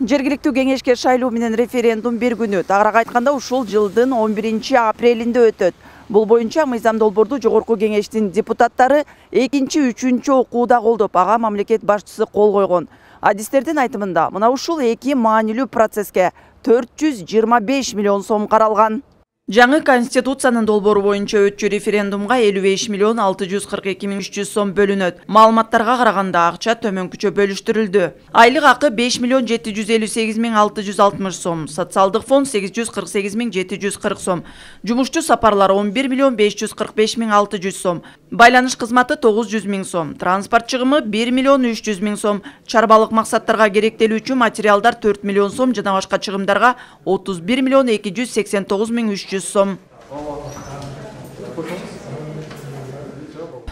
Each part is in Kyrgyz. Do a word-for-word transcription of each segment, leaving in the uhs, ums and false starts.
Жергиликтүү кеңешке шайлоо менен референдум бир күнү, тагыраак айтканда ушул жылдын он биринчи апрелинде өтөт. Бул боюнча мыйзам долбоорду жогорку кеңештин депутаттары экинчи, үчүнчү окууда колдоп, ага мамлекет башчысы кол койгон. Адистердин айтымында, мына ушул эки маанилүү процесске төрт жүз жыйырма беш миллион сом каралган. Жаңы Конституциянын долбоору боюнча өтчү референдумга элүү беш миллион алты жүз кырк эки миң үч жүз сом бөлүнөт. Маалыматтарга караганда акча төмөнкүчө бөлүштүрүлдү. Айлык акы беш миллион жети жүз элүү сегиз миң алты жүз алтымыш сом, социалдык фонд сегиз жүз кырк сегиз миң жети жүз кырк сом, жумушчу сапарлары он бир миллион беш жүз кырк беш миң алты жүз сом, байланыш кызматы тогуз жүз миң сом, транспорт чыгымы бир миллион үч жүз миң сом, чарбалык максаттарга керектелүүчү материалдар төрт миллион сом жана башка чыгымдарга отуз бир миллион эки жүз сексен тогуз миң үч жүз сом.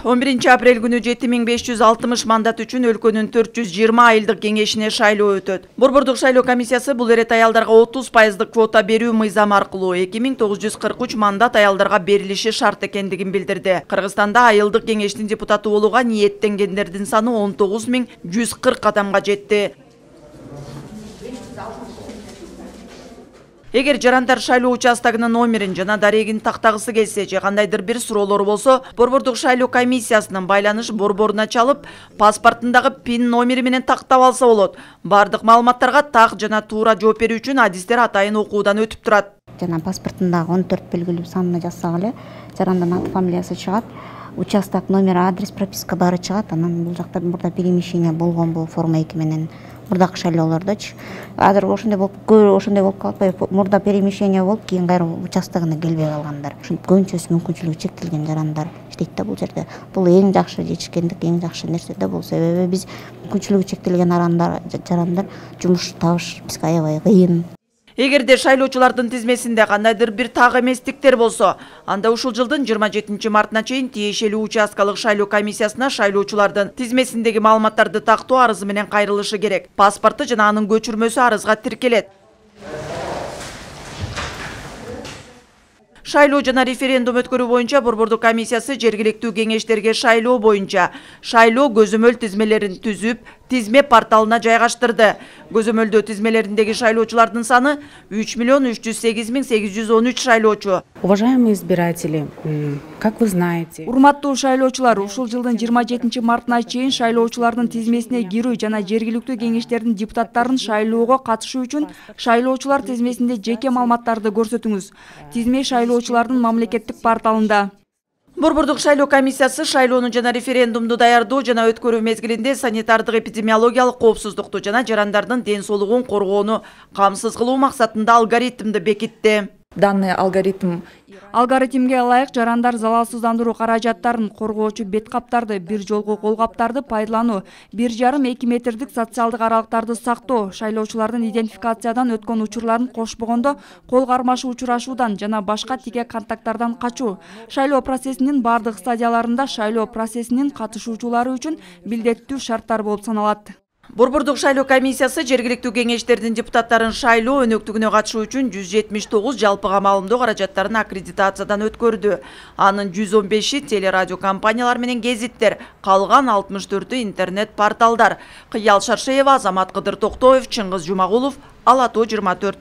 он биринчи апрель күнү жети миң беш жүз алтымыш мандат үчүн өлкөнүн төрт жүз жыйырма айылдык кеңешине шайлоо өтөт. Борбордук шайлоо комиссиясы бул эрет аялдарга отуз пайыздык квота берүү мыйзамы аркылуу эки миң тогуз жүз кырк үч мандат аялдарга берилиши шарт экендигин билдирди. Кыргызстанда айылдык кеңештин депутаты болууга ниеттенгендердин саны он тогуз миң жүз кырк адамга жетти. Эгер жарандар шайлоо участогунун номерин жана дарегин тактагысы келсе же кандайдыр бир суроолору болсо, Борбордук шайлоо комиссиясынын байланыш борборуна чалып, паспортундагы пин номери менен тактап алса болот. Бардык маалыматтарга так жана туура жооп берүү үчүн адистер атайын окуудан өтүп турат. Жана паспортундагы он төрт белгилүү санына жазсак эле, жарандын аты фамилиясы чыгат, участок номери, адрес, прописка баары чыгат. Анан бул жакта мурда перемещение болгон бул форма эки менен мурдакы шайлоолордочу. Азыр ошондой болуп, көбү ошондой болуп калып, мурда перемещение болуп, кийин кайра участогуна келбей калгандар. Ушинтип көбүнчөсү мүмкүнчүлүгү чектелген жарандар иштейт да бул жерде. Бул эң жакшы жетишкендик, эң жакшы нерсе да бул. Себеби биз мүмкүнчүлүгү чектелген арандар, жарандар жумуш табыш бизге аябай кыйын. Эгерде шайлоочулардын тизмесинде кандайдыр бир так эместиктер болсо, анда ушул жылдын жыйырма жетинчи мартына чейин тиешелүү участкалык шайлоо комиссиясына шайлоочулардын тизмесиндеги маалыматтарды тактоо арызы менен кайрылышы керек. Паспорту жана анын көчүрмөсү арызга тиркелет. Шайлоо жана референдум өткөрүү боюнча Борбордук комиссиясы жергиликтүү кеңештерге шайлоо боюнча шайлоо көзөмөл тизмелерин түзүп, тизме порталына жайгаштырды. Көзөмөлдөө тизмелериндеги шайлоочулардын саны үч миллион үч жүз сегиз миң сегиз жүз он үч шайлоочу. Уважаемые избиратели, как вы знаете, урматтуу шайлоочулар, ушул жылдын жыйырма жетинчи мартына чейин шайлоочулардын тизмесине кирүү жана жергиликтүү кеңештердин депутаттарын шайлоого катышуу үчүн шайлоочулар тизмесинде жеке маалыматтарды көрсөтүңүз. Тизме шайлоочулардын мамлекеттик порталында. Борбордук шайлоо комиссиясы шайлоону жана референдумду даярдоо жана өткөрүү мезгилинде санитардык эпидемиологиялык коопсуздукту жана жарандардын ден соолугун коргоону камсыз кылуу максатында алгоритмди бекитти. Данный алгоритм Алгоритмге ылайык жарандар залалсыздандыруу каражаттарын, коргоочу бет каптарды, бир жолку кол каптарды пайдалануу, бир жарым эки метрдик социалдык аралыктарды сактоо, шайлоочулардын идентификациядан өткөн учурларын кошпогондо кол кармашы учурашуудан жана башка тике контакттардан качуу, шайлоо процессинин бардык стадияларында шайлоо процессинин катышуучулары үчүн билдеттүү шарттар болуп саналат. Борбордук шайлоо комиссиясы жергиликтүү кеңештердин депутаттарын шайлоо өнөктүгүнө катышуу үчүн жүз жетимиш тогуз жалпыга маалымдоо каражаттарын аккредитациядан өткөрдү. Анын жүз он беши телерадио компаниялар менен гезиттер, калган алтымыш төртү интернет порталдар. Кыял Шаршеева, Азамат Кыдыр Токтоев, Чыңгыз Жумагулов, Ала тоо жыйырма төрт.